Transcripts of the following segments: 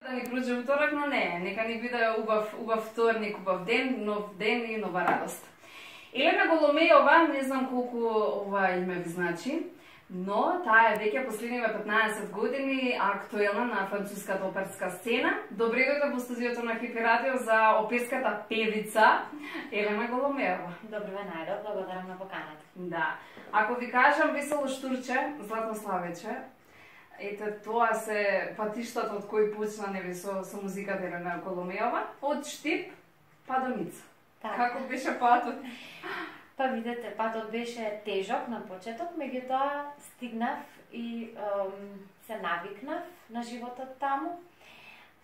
Да ни проđe уторак, но не, нека ни биде убав вторник, убав ден, нов ден и нова радост. Елена Голомејова, не знам колку ова име ви значи, но таа е веќе последниве 15 години актуелна на француската оперска сцена. Добре дојде во студиото на Хипи Радио за оперската певица Елена Голомејова. Добро ве најдов, благодарам на поканата. Да. Ако ви кажам Весело штурче, Златно славече, ете тоа се патиштата од кои почна нели со музиката Елена Голомејова, од Штип па до Ница. Како беше патот? Па видете, патот беше тежок на почеток, меѓутоа стигнав и се навикнав на животот таму.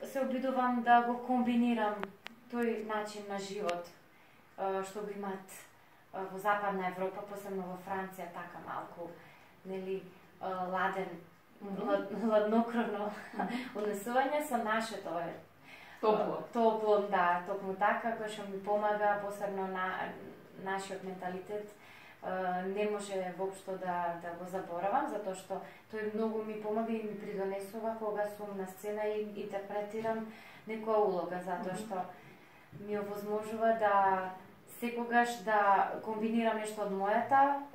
Се обидувам да го комбинирам тој начин на живот што го имат во Западна Европа, посебно во Франција, така малку, нели, ладен, ладнокрвно однесување со нашето Топло. Топло, да, токму така, кој што ми помага, посебно на нашиот менталитет, не може воопшто да го заборавам, затоа што тој многу ми помага и ми придонесува кога сум на сцена и интерпретирам некоја улога, затоа што ми овозможува да секогаш да комбинирам нешто од мојата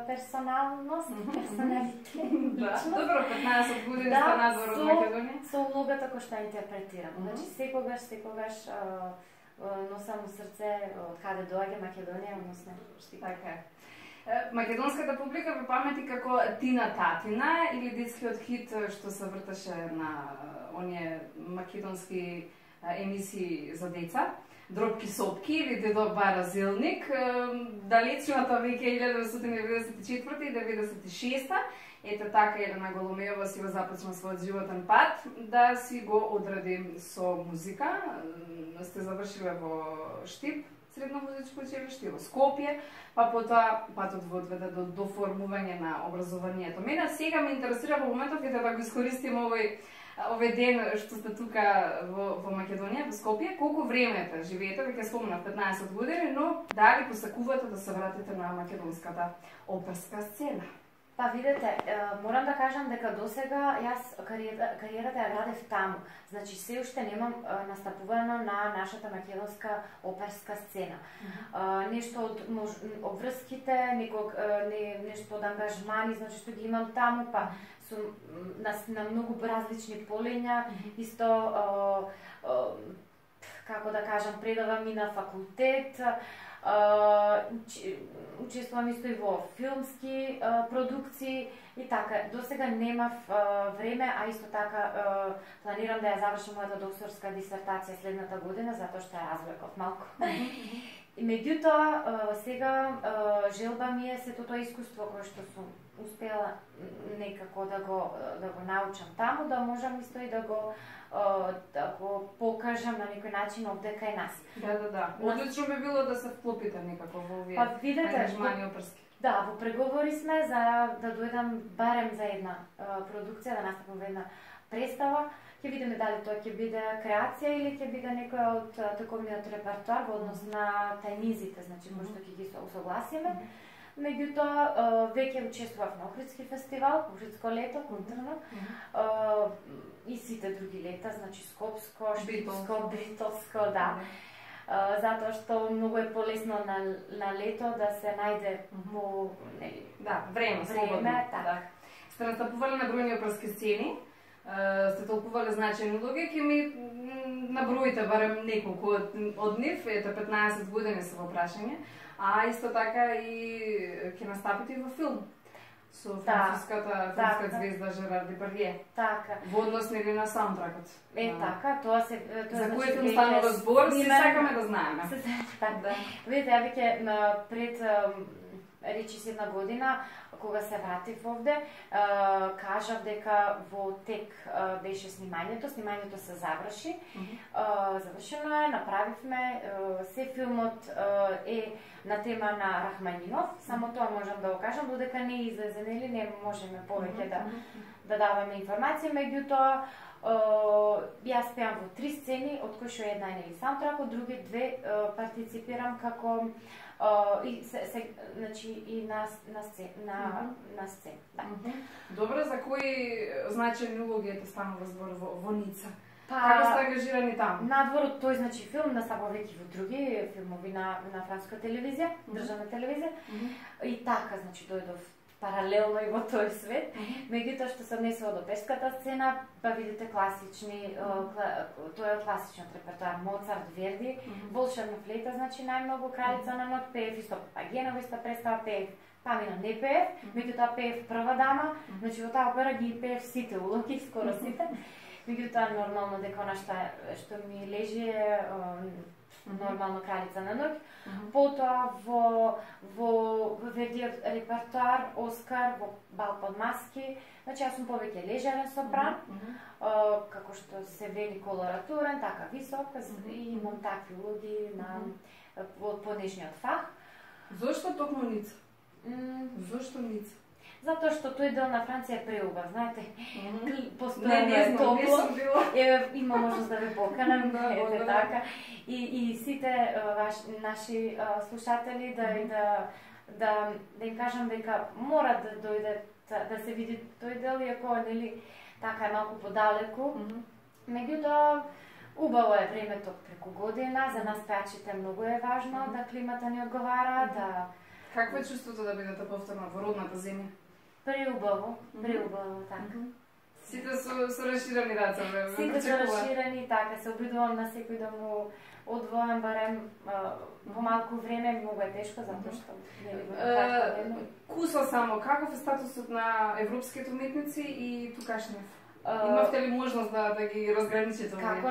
персоналност, персоналитет. Добро, 15 години сте надвор од Македонија. Со улогата која што интерпретирам. Значи секогаш носам у срце од каде доаѓа Македонија, односно Штип. Така е. Македонската публика ве памети како Тина Татина или детскиот хит што се вртеше на оние македонски емисии за деца. Дропки сопки или Дедо Бара Зелник, далечната веќе 1994 и 1996. Ете така Елена Голомејова си го започна својот животен пат да си го одреди со музика. Сте завршиле во Штип, средно музичко училиште, во Скопје, па потоа патот во одведе до формување на образованието. Мене сега ме интересира во моментов кога да го искористим овој ден што сте тука во Македонија, во Скопје, колку време живеете, веќе спомнав 15 години, но дали посакувате да се вратите на македонската оперска сцена? Па видете, морам да кажам дека досега јас кариерата ја градев таму. Значи се уште немам настапувано на нашата македонска оперска сцена. Нешто од обврските, нешто од ангажмани, значи што ги имам таму, па сум на многу различни полења, исто како да кажам, предавам и на факултет, учествувам исто и во филмски продукции и така. Досега немав време, а исто така планирам да ја завршам мојата докторска дисертација следната година, затоа што ја развлеков малку. И меѓутоа, сега желба ми е сето тоа искуство кое што сум успела некако да го научам таму, да можам исто и да го покажам на некој начин овде кај нас. Да. Одлично би било да се вклопите некако во овие ангажмани оперски. Да, во преговори сме за да дојдам барем за една продукција, да настапам во една представа. Ќе видиме дали тоа ќе биде креација или ќе биде некоја од таковниот репертоар во однос на тајнизите, значи кои што ќе ги усогласиме. Меѓутоа, веќе учествував на Охридски фестивал, Охридско лето, културно, и сите други лета, значи Скопско, Штипско, Бритолско, да. Затоа што многу е полесно на лето да се најде во време, слободно. Сте настапували на бројни оперски сцени, сте толкувале значајни улоги, ќе ми наброите барем неколку од нив, ете 15 години се во прашање, а исто така и ќе настапите и во филм со француската филмска звезда Жерар Депардие. Така. Во однос нели на саундтракот. Така, тоа се за кој филм станува збор, се сакаме да знаеме. Така. Видите, ја веќе пред речиси една година, кога се вратив овде, кажав дека во тек беше снимањето се заврши. Завршено е, направивме, се филмот е на тема на Рахманинов, само тоа можам да го кажам, додека не излезе, нели не можеме повеќе да даваме информација, меѓутоа Јас пеам во 3 сцени, од кои што една е нели саундтрак, од други 2 партиципирам како значи и на сцена, да. Добро, за кои значени улоги ете станува збор во Ница? Како сте ангажирани таму? Надвор од тој значи филм настапува веќе во други филмови на француска телевизија, државна телевизија. И така значи дојдов паралелно и во тој свет. Меѓутоа што се однесува до пешката сцена, па видите класични, тоа е класичниот репертоар, Моцарт, Верди, Волшебна флейта, значи најмногу Кралица на ног, пеев исто Папагенова иста представа, пеев Памина не пеев, меѓутоа пеев Прва дама, значи во таа опера ги пеев сите улоги, скоро сите. Меѓутоа нормално дека она што ми лежи е нормално Кралица на ноќ. Потоа во Вердиот репертоар Оскар, во Бал под маски, значи јас сум повеќе лежерен сопран, како што се вели колоратурен, така висок, и имам такви улоги во понежниот фах. Зошто токму Ница? Зошто Ница? Затоа што тој дел на Франција е преубав, знаете. Постојано е топло. Има можност да ве поканам, ете така. И сите наши слушатели да им кажам дека мора да дојде да се види тој дел, иако нели така е малку подалеку. Меѓутоа убаво е времето преку година, за нас пеачите многу е важно да климата ни одговара, да. Какво е чувството да бидете повторно во родната земја? Преубаво, така. Сите со расширени раце, Сите со расширени, така, се обидувам на секој да му одвојам барем помалку време, многу е тешко, затоа што нели во кратко време. Куса само, каков е статусот на европските уметници и тукашниот? Имавте ли можност да ги разграничите? Како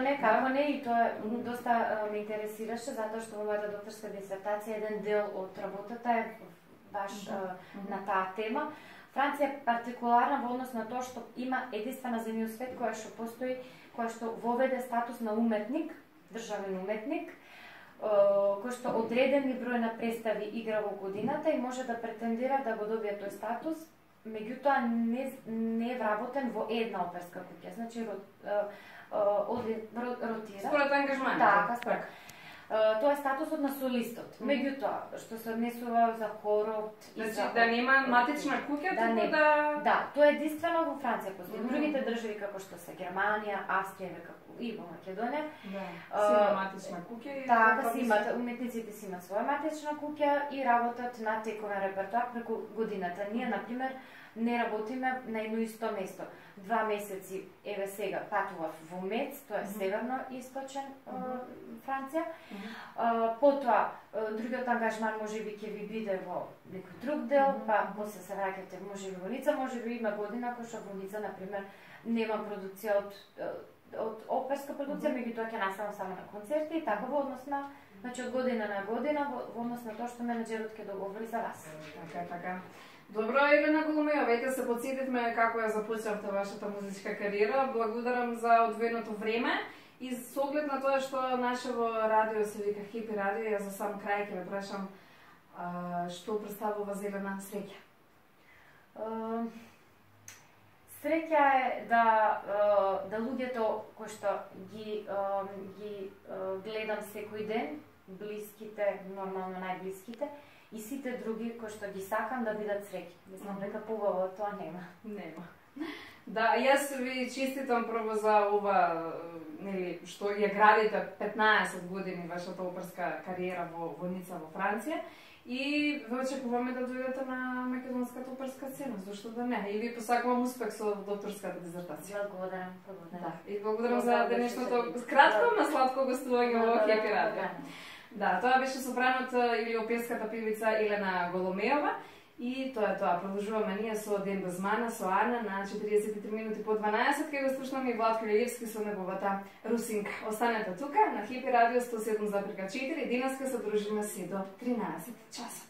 не, и тоа доста ме интересираше, затоа што во мојата докторска дисертација еден дел од работата е баш на таа тема. Франција е партикуларна во однос на тоа што има единствена земја во свет која што постои, која што воведе статус на уметник, државен уметник, кој што одредени број на представи игра во годината и може да претендира да го добие тој статус, меѓутоа не е вработен во една оперска куќа, значи ротира. Според ангажманот. Така, според. Тоа е статусот на солистот. Меѓутоа, што се однесува за хорот и значи, за... да нема матична куќа, туку да... Да, тоа е единствено во Франција постои. Другите држави како што се Германија, Австрија и во Македонија. Си има матична куќа и... Така, си имат, уметниците си имат своја матична куќа и работат на тековен репертоар преку годината. Ние, например, не работиме на едно исто место. 2 месеци, еве сега, патував во Мец, тоа е северно источен Франција. Потоа, другиот ангажман можеби ќе ви биде во некој друг дел, па после се враќате можеби во Ница, можеби има година кој што во Ница, например, нема продукција од оперска продукција, меѓутоа ќе наставам само на концерти и така во однос на, значи од година на година, во однос на тоа што менеджерот ќе договори за вас. Така. Добро, Елена Голомејова, веќе се потсетивме како ја започнавте вашата музичка кариера. Благодарам за одвоеното време и со оглед на тоа што нашево радио се вика Хепи радио, ја за сам крај ќе ве прашам што представува за Елена среќа? Среќа е да луѓето кои што ги гледам секој ден, блиските, нормално најблиските, и сите други кои што ги сакам да бидат среќни. Мислам дека побаво тоа нема. Да, јас ви честитам прво за ова, нели, што ја градите 15 години вашата оперска кариера во Ница, во Франција. И ве очекуваме да дојдете на македонската оперска сцена, зашто да не? И ви посакувам успех со докторската дизертација. Благодарам. Да, и благодарам за денешното кратко, но сладко гостување во Хепи радио. Да, тоа беше сопранот или оперската певица Елена Голомејова. И тоа е тоа. Продолжуваме ние со Ден без мана, со Ана на 43 минути по 12, кај го слушнаме и Владко Лелевски со неговата Русинка. Останете тука на Хепи радио 107,4. Денеска се дружиме се до 13 часот.